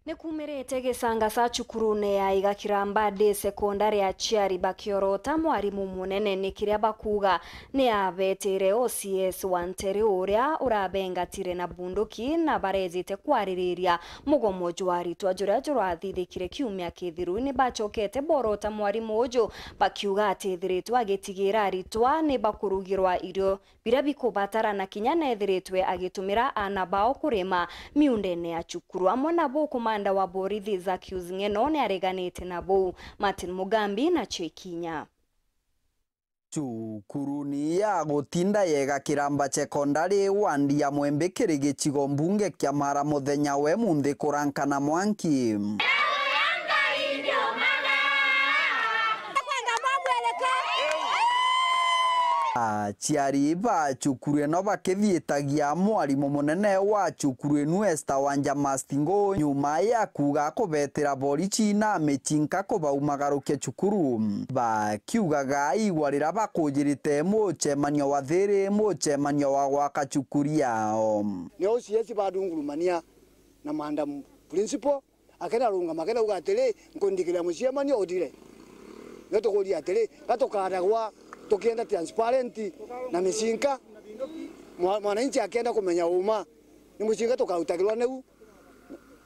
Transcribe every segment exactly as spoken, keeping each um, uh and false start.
Ni kumirite gicanga ca cukurune ya Iga Kiramba Day Secondary, aciari bakiorota mwarimu munene ni kiria bakuuga ni abetire O C S wa Nteere uria urabengatire na bunduki na barejite kwaririria mugomo jwa aritwa juria jurathithikire kiumia kithiru. Ni bacokete borota mwarimu uju bakiuga ati ethiritwe agitigira aritwa ni bakurugirwa irio biria bikubatarana kinya neethiritwe agitumira aana bao kurima miundene ya cukuru. Amwe nabo, komanda wa borithi Zacchaeus Ng'eno ni areganite na buu. Martin Mugambi na Chekinya. Cukuruni ya gutinda yega Kiramba Sekondari, wandi ya Mwembe, kiri gicigo mbunge kia Mara, muthenya we munthi kurankana mwanki. Aciari ba cukuru ino bakithiitagia mwarimu munene wa cukuru inu, Esther Wanja Mastingo, nyuma ya kuuga kubetira borichi na micinka kubaumagarukia cukuru, bakiugaga igwa riria bakujirite mucemanio wa thiri, mucemanio wa gwaka cukuru yao. Ni O C S badungurumania na madam principal, akena rungama, akena uga atiri, "Nkundikira mucemanio uthire." Nio tukuria atiri, ga tukaragwa tukienda transparent na micinka? Mwa-, mwananchi akienda kumenya uma, ni mucinka tukautagirwa niu?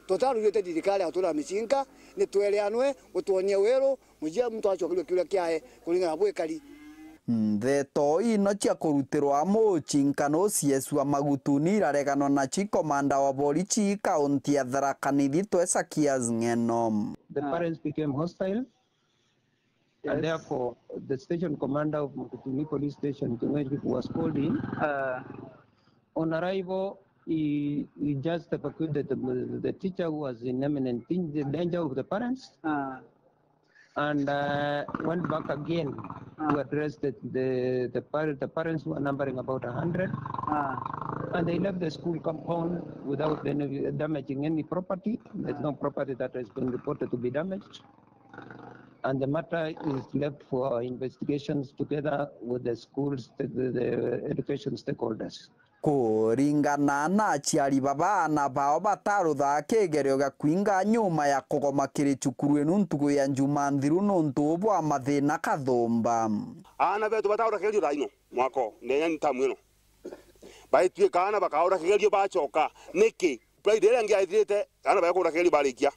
Tutarurite thirikari ya gutura micinka, ni twereanwe, utwonie weru, mujia muntu acokerwe kiuria kiae kuringana na bwikari. Ndeto ino cia kurutirwa mucinkano, O C S wa Magutuni irareganwa na ci komanda wa borichi kaunti ya Tharaka Nithi, Zacchaeus Ng'eno. The parents became hostile, and therefore the station commander of Magutuni Police Station, King'oji, was called in. Uh, on arrival, he, he just evacuated the, the teacher who was in imminent danger of the parents. Uh, and, uh, went back again to address the, the, the par-, the parents who are numbering about a hundred. And they left the school compound without any damaging any property. There's no property that has been reported to be damaged. And the matter is left for investigations together with the schools, the, the, the education stakeholders. Kuringana na aciari baba, aana bao bataruthaa kigerio gia kuinga nyuma ya kugoma kiri cukuru inu ntuku ya Njumaa nthiru nuntu bwa mathina kathumba. Aana betu bataruthaa kigerio thaa ino mwaka uu, ndenya ni tamu ino. Baituika aana bakaura kigerio bacoka. Niki? Friday iria ingi yaithirite, aana bakuura kigerio barikia.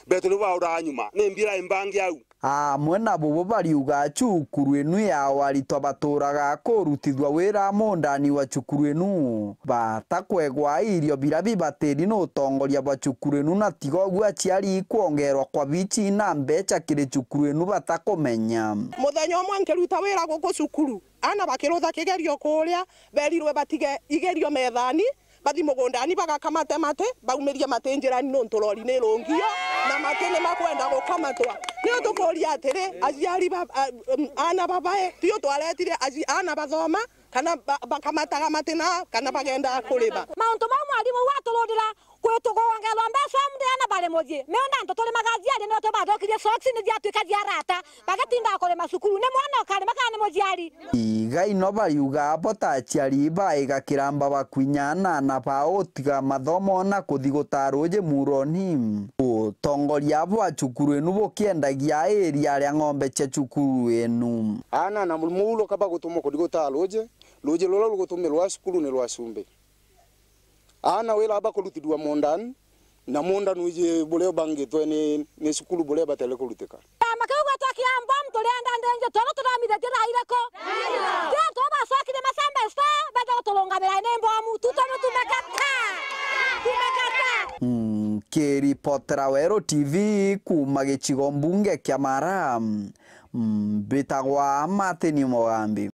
Betu ni bauraga nyuma. Ni mbira imbangi au. Amwe na bubu bariuga cukuru inu yao aritwa baturaga kurutithua wira mundani wa cukuru inu, batakwegwa irio biria bibatiri ni utongoria bwa cukuru inu, na tiga uguo aciari ikwongerwa kwa bichi na mbeca kiri cukuru inu batakumenya. Muthenya umwe nkiruta wira guku cukuru, aana bakirutha kigerio kuria, berirwe batige igerio methani, bathi mugundani bagakamate mati, baumirie mati njirani nuntu rori ni irungio, na mati ni makwenda gukamatwa. Niyo tukuria atiri, aciari ba-, a-, um, aana babae, tio twaretire aci-, aana bathoma, kana ba-, bakamataga mati na, kana bagenda kurima. Mauntu mau mwarimu watururira, kwi tukuongerwa mbeca, mundene bari mucii. Miunda antu turimaga aciari nio tubathukirie socks ni ciatuika cia arata. Bagatinda kurima cukuru, ni mwana ukarima kana ni muciari? Iga ino bariuga bo ta aciari baigakira mba bakwinya na aana bao utiga mathomo na kuthi gutaa ruuji muroni. Utongoria bwa cukuru inu bukiendagia iria ria ng'ombe cia cukuru inu. Aana na muuro kaba gutumwa kuthi gutaa ruuji, ruuji ruria rugutumirwa cukuru ni rwa cumbi. Aana wira bakurutithua mundani, na mundani uji buria ubangitwe ni, ni cukuru buria batere kurutika. Kiama kiu gwitwa kia mbomu turienda ndenje, twona tuthomithitie thaa iriku? Tio tubacokire macembe sto, benda guturungamira ni mbomu, tutono tumekata. Tumekata. Mm, kiripotera Weru T V kuuma gicigo mbunge kia Mara, mm, mbitagwa Martin Mugambi.